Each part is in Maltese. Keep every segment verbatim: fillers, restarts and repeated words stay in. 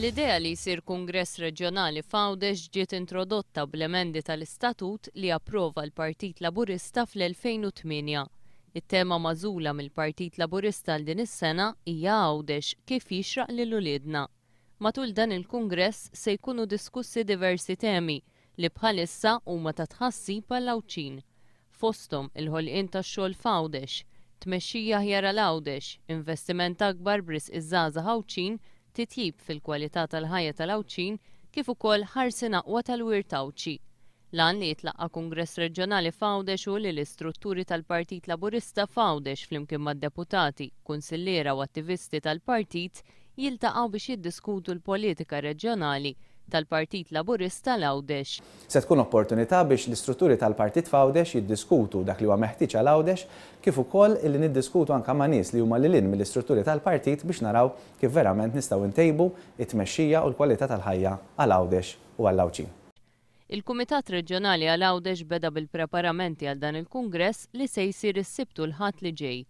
L-idea li jsir Kungress Reġjonali f'Għawdex ġiet introdotta bl-emendi tal-istatut li approva l-Partit Laburista fl-elfejn u tmienja. It-tema magħżula mill-Partit Laburista għal din is-sena hija Għawdex kif jixraq lil uliedna. Matul dan il-Kungress se jkunu diskussi diversi temi li bħalissa huma ta' tħassib għall-Għawdxin. Fosthom il-ħolqien tax-xogħol f'Għawdex, tmexxija aħjar għal Għawdex, investiment akbar b'risq iż-żgħażagħ Għawdxin, titjib fil-kwalità tal-ħajja tal-Għawdxin kif ukoll ħarsien aqwa tal-wirt Għawdxi. L-għan li jitlaqqa' Kungress Reġjonali f'Għawdex hu li l-istrutturi tal-Partit Laburista f'Għawdex flimkien mad-deputati, kunsilliera u attivisti tal-partit jiltaqgħu biex jiddiskutu l-politika reġjonali tal-Partit Laburista l-Għawdex. Se tkun opportunità biex l-istrutturi tal-Partit f'Għawdex jiddiskutu dak li huwa meħtieġ għal Għawdex, kif ukoll illi niddiskutu anke ma' nies li huma lil hinn mill-istrutturi tal-partit biex naraw kif verament nistgħu ntejbu it-tmexxija u l-kwalità tal-ħajja għal Għawdex u għall-Għawdxin. Il-Kumitat Reġjonali għal Għawdex beda bil-preparamenti għal dan il-Kungress li se jsir is-Sibt u l-Ħadd li ġej.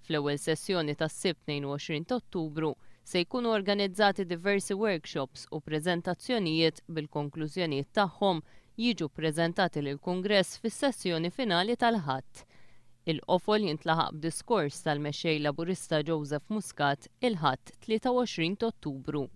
Fl-ewwel sessjoni tas-Sibt tnejn u għoxrin ta' Ottubru se jkunu organizzati diversi workshops u preżentazzjonijiet bil-konklużjonijiet tagħhom jiġu ppreżentati lill-Kungress fis-sessjoni finali tal-Ħadd. Il-qofol jintlaħaq b'diskors tal-mexxej Laburista Joseph Muscat il-Ħadd tlieta u għoxrin ta' Ottubru.